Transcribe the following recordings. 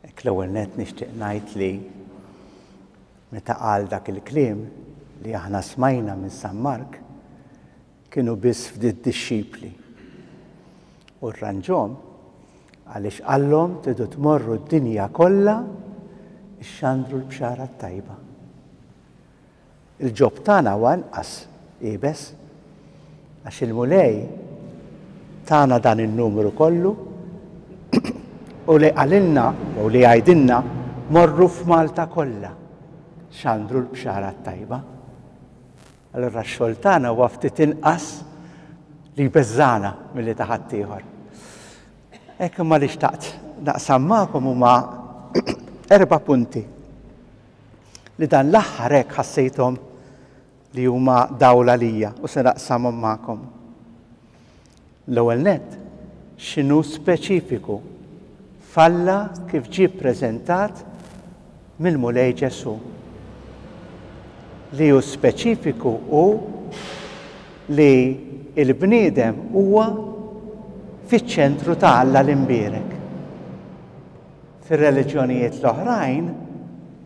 Hekk l-ewwel nett nixtieq ngħid li meta qal dak il-kliem li aħna smajna minn San Mark, kienu biss ftit dixxipli. U rranġhom għaliex qallhom tridu tmorru d-dinja kollha ixxandru l-bxara t-tajba. Il-ġob tagħna huwa inqas iebes għax il-Mulej tana dan in-numru kollu u li qalilna jew li jgħidilna morru f'Malta kollha xandru l-bxara t-tajba. Allura x-xogħol tagħna huwa ftit inqas li jbeżżagħna milli ta' ħaddieħor. Hekk imma li xtaqt naqsam magħkom huma erba' punti li dan l-aħħar hekk ħassejthom li huma dawl għalija u se naqsamhom magħkom. L-ewwel nett, x'inhu speċifiku f'Alla kif ġie ppreżentat mill-Mulej Ġesù? Li hu speċifiku hu li l-bniedem huwa fiċ-ċentru ta' Alla l-Imbierek. Fir-reliġjonijiet l-oħrajn,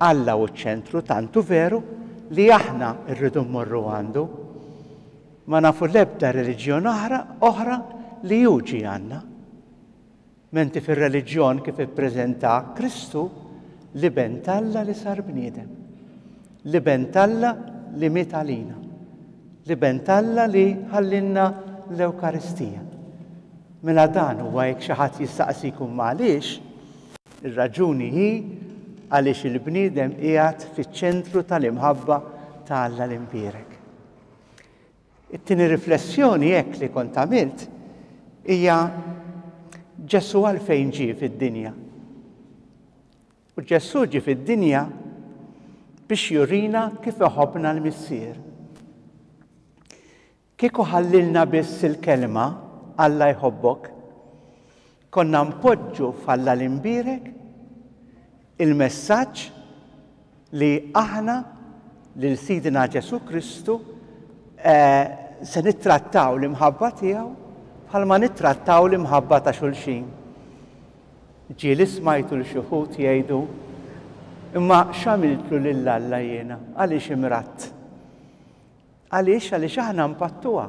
Alla hu ċ-ċentru tant hu veru li aħna rridu mmorru għandu. Ma nafu l-ebda reliġjon oħra oħra li hu ġie għandna. Menti fir-reliġjon kif ippreżenta Kristu l-Iben t'Alla li sar bniedem. L-Iben t'Alla li miet għalina. L-Iben t'Alla li ħallinna l-Ewkaristija. Mela dan huwa jekk xi ħadd jistaqsikum ma għaliex, ir-raġuni hi għaliex il-bniedem qiegħed fiċ-ċentru tal-imħabba ta' Alla l-Imbierek. It-tieni riflessjoni hekk li kont għamilt hija Ġesù għalfejn ġie fid-dinja. U Ġesù ġie fid-dinja biex jurina kif iħobbna l-Missier. Kieku ħallilna biss il-kelma Alla jħobbok, konna npoġġu f'Alla l-Imbierek il-messaġġ li aħna lil Sidna Ġesù Kristu se nittrattaw l-imħabba tiegħu bħalma nittrattaw l-imħabba ta' xulxin. Ġieli smajtu l xi wħud jgħidu, Imma x'għamiltlu lil Alla jiena? Għaliex imradt? Għaliex? Għaliex aħna npattuha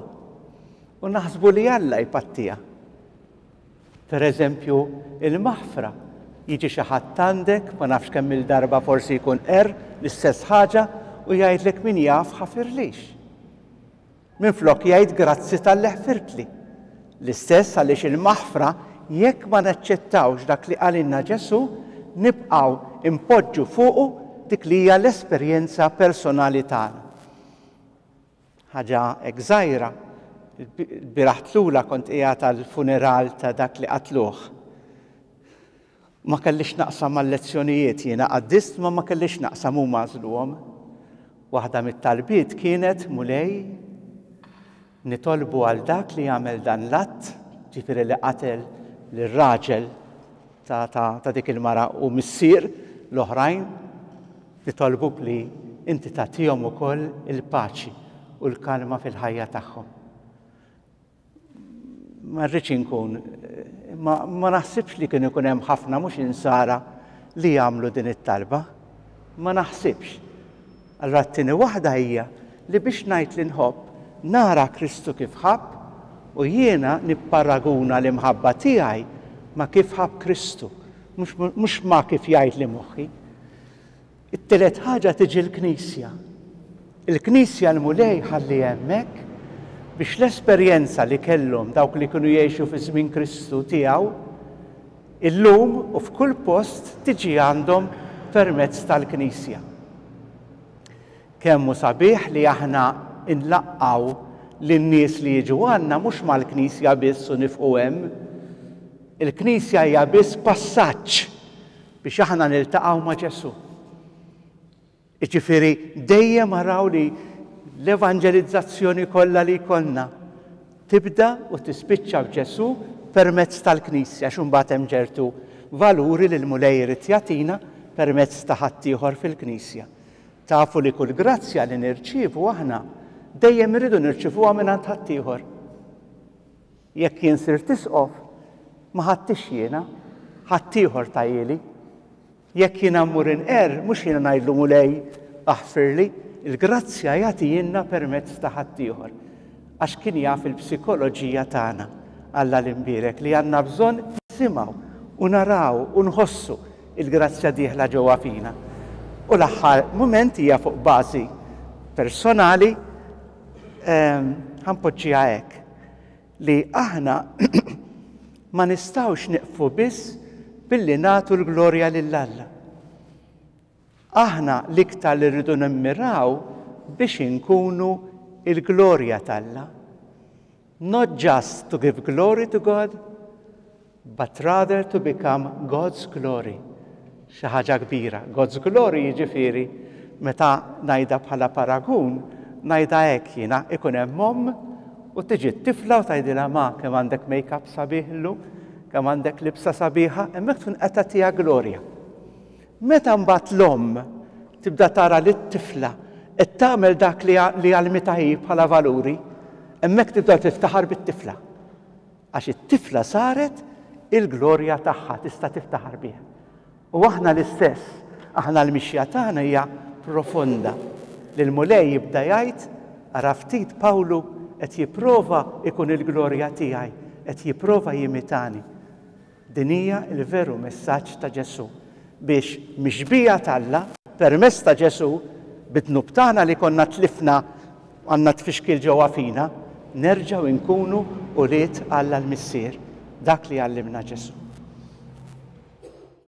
u naħsbu li Alla jpattiha. Per eżempju, il-maħfra. Jiġi xi ħadd għandek, ma nafx kemm-il darba forsi jkun qerr l-istess ħaġa u jgħidlek min jaf ħafirlix. Minflok jgħid grazzi talli ħfirtli. L-istess għaliex il-maħfra jekk ma naċċettawx dak li qalilna Ġesù, nibqgħu npoġġu fuqu dik li hija l-esperjenza personali tagħna. Ħaġa hekk żgħira, il-bieraħ tlula kont qiegħed għall-funeral ta' dak li qatluh. Ma kellix naqsam mal-lezzjonijiet jiena qaddist ma ma kellix naqsam huma għażluhom. Waħda mit-talbiet kienet Mulej nitolbu għal dak li għamel dan l-att, ġifieri li qatel lir-raġel ta', ta, ta dik il-mara u missier l-oħrajn, Nitolbuk li inti tagħtihom ukoll il-paċi u l-kalma fil-ħajja tagħhom. Ma rridx inkun, ma, ma naħsibx li kien ikun hemm ħafna mhux insara li jagħmlu din it-talba. Ma naħsibx. Allura t-tieni waħda hija li biex ngħid li nħobb, nara Kristu kif ħabb u jiena nipparaguna l-imħabba tiegħi ma' kif ħabb Kristu, mhux ma' kif jgħidli moħħi. It-tielet ħaġa tiġi l-Knisja. Il-Knisja l-Mulej ħalli hemmhekk biex l-esperjenza li kellhom dawk li kienu jgħixu fi żmien Kristu tiegħu, illum u f'kull post tiġi għandhom permezz tal-Knisja. Kemm hu sabiħ li aħna nlaqqgħu lin-nies li jiġu għandna mhux mal-Knisja biss u nifqu hemm. Il-Knisja hija biss passaġġ biex aħna niltaqgħu ma' Ġesù. Jiġifieri dejjem araw li l-evanġelizzazzjoni kollha li jkollna tibda u tispiċċa f'Ġesù permezz tal-Knisja għax imbagħad hemm ġertu valuri li l-Mulej irid jagħtina permezz ta' ħaddieħor fil-Knisja. Tafu li kull grazzja li nirċievu aħna dejjem irridu nirċivuha mingħand ħaddieħor. Jekk jien sirt isqof, ma ħadtix jiena, ħaddieħor tahieli. Jekk jiena mmur inqerr, mhux jiena ngħidlu Mulej aħfirli, il-grazzja jagħtihielna permezz ta' ħaddieħor. Għax kien jaf il-psikoloġija tagħna, Alla l-Imbierek, li għandna bżonn nisimgħu u naraw u nħossu il-grazzja dieħla ġewwa fina. U l-aħħar mument hija fuq bażi personali, ehm, ħa npoġġiha hekk, li aħna ma nistgħux nieqfu biss billi nagħtu l-glorja lil Alla. Aħna l-iktar li rridu nimmiraw biex inkunu l-glorja t'Alla. Not just to give glory to God, but rather to become God's glory. Xi ħaġa kbira. God's glory jiġifieri meta ngħidha bħala paragun, ngħidha hekk jiena, ikun hemm omm u tiġi t-tifla u tgħidilha ma kemm għandek make-up sabiħ illum, kemm għandek libsa sabiħa, hemmhekk tkun qed tagħtiha glorja. Meta mbagħad l-omm tibda tara lit-tifla qed tagħmel dak li għallmitha hi bħala valuri, hemmhekk tibda tiftaħar bit-tifla. Għax it-tifla saret il-glorja tagħha, tista' tiftaħar biha. U aħna l-istess, aħna l-mixja tagħna hija profonda. Li l-Mulej jibda jgħid, ara ftit Pawlu qed jipprova jkun il-glorja tiegħi, qed jipprova jimitani. Din hija l-veru messaġġ ta' Ġesù, biex mix-xbieha t'Alla, permezz ta' Ġesù, bid-dnub tagħna li konna tlifna għandna tfixkil ġewwa fina, nerġgħu nkunu ulied Alla l-Missier, dak li għallimna Ġesù.